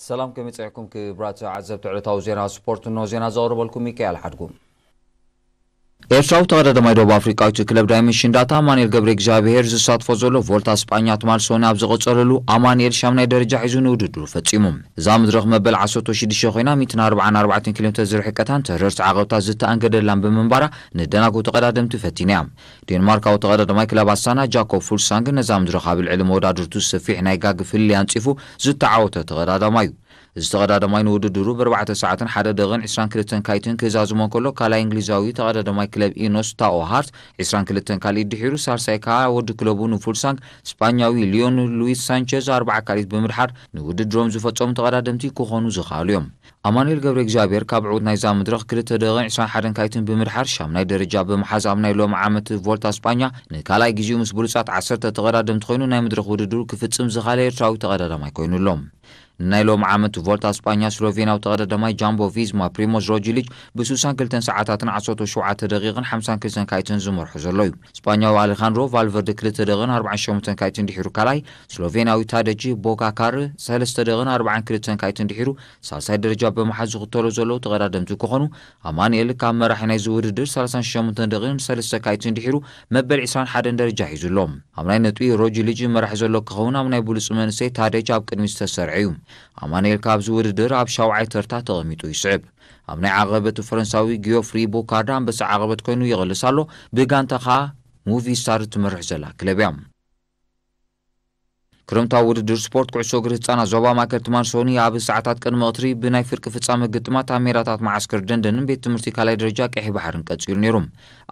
ሰላም ከመይ ጸኒሕኩም ክቡራት ተዓዘብቲ ዕለታዊ ዜና ስፖርት፣ እንሆ ዜና ዘቕርበልኩም ሚካኤል ሓድጉ። ኤርትራዊ ተቐዳዳማይ ደቡብ ኣፍሪቃዊት ክለብ ዳይመንሽን ዳታ ኣማኑኤል ገብረ እግዚኣብሔር ዝሳትፎ ዘሎ ቮልታ ስጳኛ ትማል ሶኒ ኣብ ዝቐጸለሉ ኣማኑኤል ሻምናይ ደረጃ ሒዙ ንውድድሩ ፈጺሙ። እዛ መድረኽ መበል ዓሰርተ ሽዱሽተ ኮይና ሚእትን ኣርባዓን ኣርባዕተን ኪሎ ሜትር ዝርሕቀታን ተረርቲ ዓቐብታት ዝተኣንገደላን ብምንባራ ንደናጉ ተቐዳደምቲ ፈቲና እያ። ዴንማርካዊ ተቐዳዳማይ ክለብ ኣስታና ጃኮብ ፉልሳንግ ነዛ መድረኽ ኣብ ልዕሊ መወዳድርቱ ሰፊሕ ናይ ጋግ ፍልልይ ኣንጺፉ ዝተዓወተ ተቐዳዳማይ እዩ። እዚ ተቐዳዳማይ ንውድድሩ ብኣርባዕተ ሰዓትን ሓደ ደቂቕን ዕስራን ክልተን ካይትን ክዛዝሞ እንከሎ፣ ካልኣይ እንግሊዛዊ ተቐዳዳማይ ክለብ ኢኖስ ታኦ ሃርት ዕስራን ክልተን ካልኢት ድሒሩ፣ ሳልሳይ ከኣ ወዲ ክለቡ ንፉልሳንግ ስጳኛዊ ሊዮን ሉዊስ ሳንቸዝ ኣርብዓ ካልኢት ብምድሓር ንውድድሮም ዝፈጸሙ ተቐዳደምቲ ክኾኑ ዝኸኣሉ እዮም። ኣማኑኤል ገብረ እግዚኣብሔር ካብ ዕዉት ናይዛ መድረኽ ክልተ ደቂቕን ዕስራን ሓደን ካይትን ብምድሓር ሻምናይ ደረጃ ብምሓዝ ኣብ ናይ ሎሚ ዓመት ቮልታ ስጳኛ ንካልኣይ ግዜኡ ምስ ብሉጻት ዓሰርተ ተቐዳደምቲ ኮይኑ ናይ መድረኽ ውድድሩ ክፍጽም ዝኻለ ኤርትራዊ ተቐዳዳማይ ኮይኑ ኣሎ። ንናይ ሎሚ ዓመት ቮልታ ስጳኛ ስሎቬንያዊ ተቐዳዳማይ ጃምቦ ቪዝማ ፕሪሞዝ ሮጅሊጅ ብስሳን ክልተን ሰዓታትን ዓሰርተ ሸውዓተ ደቂቕን ሓምሳን ክልተን ካይትን ዝመርሖ ዘሎ እዩ። ስጳኛዊ ኣሌኻንድሮ ቫልቨርደ ክልተ ደቂቕን ኣርባዓን ሸሞንተን ካይትን ድሒሩ ካልኣይ፣ ስሎቬንያዊ ታደጂ ቦጋካር ሰለስተ ደቂቕን ኣርባዓን ክልተን ካይትን ድሒሩ ሳልሳይ ደረጃ ብምሓዝ ዝኽተሎ ዘለዉ ተቐዳደምቲ ክኾኑ፣ ኣማኑኤል ካብ መራሒ ናይዚ ውድድር ሰላሳን ሸሞንተን ደቂቕን ሰለስተ ካይትን ድሒሩ መበል ዕስራን ሓደን ደረጃ ሒዙ ኣሎ። ኣብ ናይ ነጥቢ ሮጅሊጅ መራሒ ዘሎ ክኸውን፣ ኣብ ናይ ብሉጽ መንእሰይ ታደጅ ኣብ ቅድሚት ዝተሰርዐ እዩ። ኣማኑኤል ካብዚ ውድድር ኣብ ሻውዓይ ተርታ ተቐሚጡ ይስዕብ። ኣብ ናይ ዓቐበት ፈረንሳዊ ጊዮፍሪ ቦካርዳ ኣንበሳ ዓቐበት ኮይኑ ይቕልስ ኣሎ። ብጋንታ ኸኣ ሙቪስታር ትመርሕ ዘላ ክለብ እያ። ክረምታዊ ውድድር ስፖርት ኩዕሶ እግሪ ህጻናት ዞባ ማእከል ትማል ሶኒ ኣብ ሰዓታት ቅድሚ ቀትሪ ብናይ ፍርቂ ፍጻመ ግጥማት ኣብ ሜዳታት መዓስከር ደንደንን ቤት ትምህርቲ ካልኣይ ደረጃ ቀይሕ ባሕርን ቀጺሉ ነይሩ።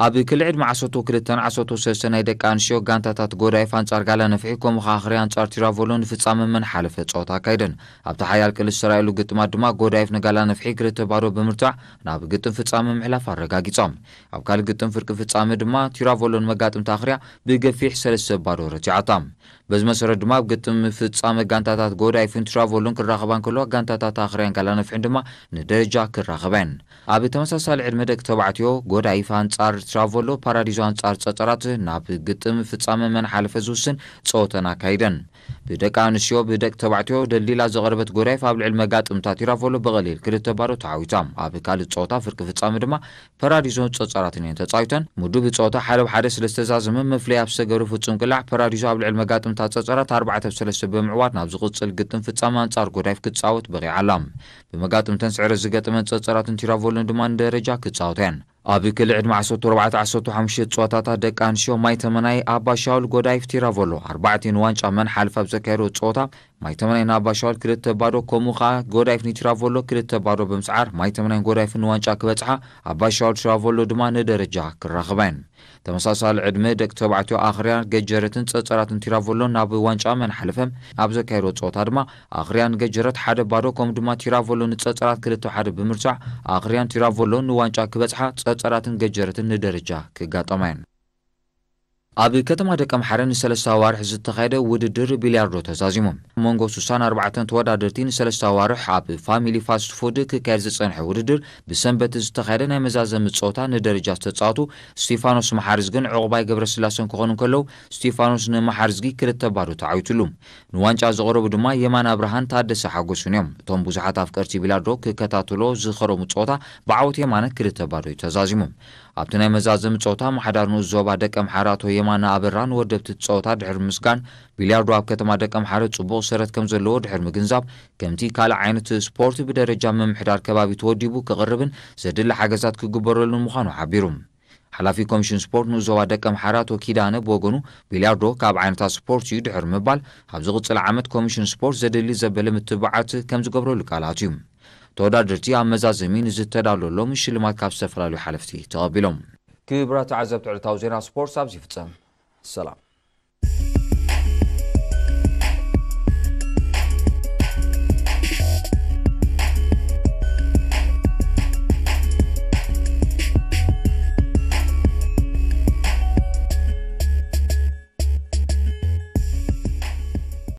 ኣብ ክሊ ዕድመ ዓሰርተ ክልተን ዓሰርተ ሰለስተን ናይ ደቂ ኣንስትዮ ጋንታታት ጎዳይፍ ኣንጻር ጋላ ነፍሒ፣ ከምኡ ኸኣ ኣኽርያ ኣንጻር ቲራቮሎ ንፍጻመ መን ሓለፈ ጸወታ ኣካይደን። ኣብቲ ሓያል ቅልስ ዝተራእየሉ ግጥማት ድማ ጎዳይፍ ንጋላ ነፍሒ ክልተ ባዶ ብምርታዕ ናብ ግጥም ፍጻመ ምሕላፍ ኣረጋጊጻ። ኣብ ካልእ ግጥም ፍርቂ ፍጻመ ድማ ቲራቮሎ ንመጋጥምቲ ኣኽርያ ብገፊሕ ሰለስተ ባዶ ረቲዓታ። በዚ መሰረት ድማ ኣብ ግጥም ፍጻመ ጋንታታት ጎዳይፍን ቲራቮሎን ክራኸባ እንከለዋ፣ ጋንታታት ኣኽርያን ጋላ ነፍሕን ድማ ንደረጃ ክራኸባ እየን። ኣብ ተመሳሳሊ ዕድመ ደቂ ተባዕትዮ ጎዳይፍ ኣንጻር ቲራቮሎ፣ ፓራዲዞ ኣንጻር ጸጸራት ናብ ግጥም ፍጻመ መን ሓለፈ ዝውስን ጸወተን ኣካይደን። ብደቂ ኣንስትዮ ብደቂ ተባዕትዮ ደልዲላ ዝቐረበት ጎዳይፍ ኣብ ልዕሊ መጋጥምታ ቲራቮሎ ብቐሊል ክልተ ባዶ ተዓዊታ። ኣብ ካልእ ጸወታ ፍርቂ ፍጻመ ድማ ፓራዲዞን ጸጸራትን እየን ተጻዊተን። ምዱብ ጸወታ ሓደ ብ ሓደ ስለ ዝተዛዘመ፣ መፍለይ ኣብ ዝተገብረ ፍጹም ቅላዕ ፓራዲዞ ኣብ ልዕሊ መጋጥምታ ጸጸራት ኣርባዕተ ብ ሰለስተ ብምዕዋት ናብ ዝቕጽል ግጥም ፍጻመ ኣንጻር ጎዳይፍ ክትጻወት በቒዓ ኣላ። ብመጋጥምተን ስዕረት ዝገጠመን ጸጸራትን ቲራቮሎን ድማ ንደረጃ ክጻወታ እየን። ኣብ ክሊ ዕድመ ዓሰርተ ኣርባዕተ ዓሰርተ ሓሙሽተ ጸወታታት ደቂ ኣንስትዮ ማይ ተመናይ ኣባ ሻውል ጎዳይፍ ቲራቮሎ ኣርባዕቲኡ ንዋንጫ መን ሓለፍ ኣብ ዘካየዶ ጸወታ ማይ ተመናይ ንኣባ ሻውል ክልተ ባዶ፣ ከምኡ ኸኣ ጎዳይፍ ንቲራቮሎ ክልተ ባዶ ብምስዓር ማይ ተመናይን ጎዳይፍን ንዋንጫ ክበጽሓ፣ ኣባ ሻውል ቲራቮሎ ድማ ንደረጃ ክራኸባ እየን። ተመሳሳሊ ዕድመ ደቂ ተባዕትዮ ኣኽርያ ገጀረትን ጸጸራትን ቲራቮሎን ናብ ዋንጫ መን ሓለፈ ኣብ ዘካየዶ ጸወታ ድማ ኣኽርያን ገጀረት ሓደ ባዶ፣ ከምኡ ድማ ቲራቮሎ ንጸጸራት ክልተ ሓደ ብምርታዕ ኣኽርያን ቲራቮሎን ንዋንጫ ክበጽሓ፣ ጸጸራትን ገጀረትን ንደረጃ ክጋጠማ እየን። ኣብ ከተማ ደቀምሓረ ንሰለስተ ኣዋርሕ ዝተኻየደ ውድድር ቢልያርዶ ተዛዚሙ። ኣብ መንጎ ስሳን ኣርባዕተን ተወዳደርቲ ንሰለስተ ኣዋርሕ ኣብ ፋሚሊ ፋስት ፉድ ክካየድ ዝጸንሐ ውድድር ብሰንበት ዝተኻየደ ናይ መዛዘሚ ጸወታ ንደረጃ ዝተጻወቱ ስቲፋኖስ መሓርዝግን ዕቑባይ ገብረስላሰን ክኾኑ እንከለዉ፣ ስቲፋኖስ ንመሓርዝጊ ክልተ ባዶ ተዓዊትሉ። ንዋንጫ ዝቐረቡ ድማ የማነ ኣብርሃን ታደሰ ሓጎሱን እዮም። እቶም ብዙሓት ኣፍቀርቲ ቢልያርዶ ክከታተሎ ዝኸረሙ ጸወታ ብዓወት የማነ ክልተ ባዶ እዩ ተዛዚሙ። ኣብቲ ናይ መዛዘሚ ጸወታ ኣመሓዳሪ ንኡስ ዞባ ደቀምሓረ ኣቶ የማነ ኣበራ ንወደብቲ እቲ ጸወታ ድሕሪ ምስጋን፣ ቢልያርዶ ኣብ ከተማ ደቀምሓረ ጽቡቕ ሰረት ከም ዘለዎ ድሕሪ ምግንዛብ፣ ከምቲ ካልእ ዓይነት ስፖርት ብደረጃ ምምሕዳር ከባቢ ተወዲቡ ክቕርብን ዘድሊ ሓገዛት ክግበረሉን ምዃኑ ሓቢሩ። ሓላፊ ኮሚሽን ስፖርት ንኡስ ዞባ ደቀምሓረ ኣቶ ኪዳነ ብወገኑ፣ ቢልያርዶ ካብ ዓይነታት ስፖርት እዩ ድሕሪ ምባል፣ ኣብ ዝቕጽል ዓመት ኮሚሽን ስፖርት ዘድሊ ዘበለ ምትብባዓት ከም ዝገብረሉ ቃል ኣትዩ። ተወዳደርቲ ኣብ መዛዘሚ ንዝተዳለወሎም ሽልማት ካብ ዝተፈላለዩ ሓለፍቲ ተቐቢሎም። ክቡራት ተዓዘብቲ ዕለታዊ ዜና ስፖርት ኣብዚ ይፍጸም። ሰላም።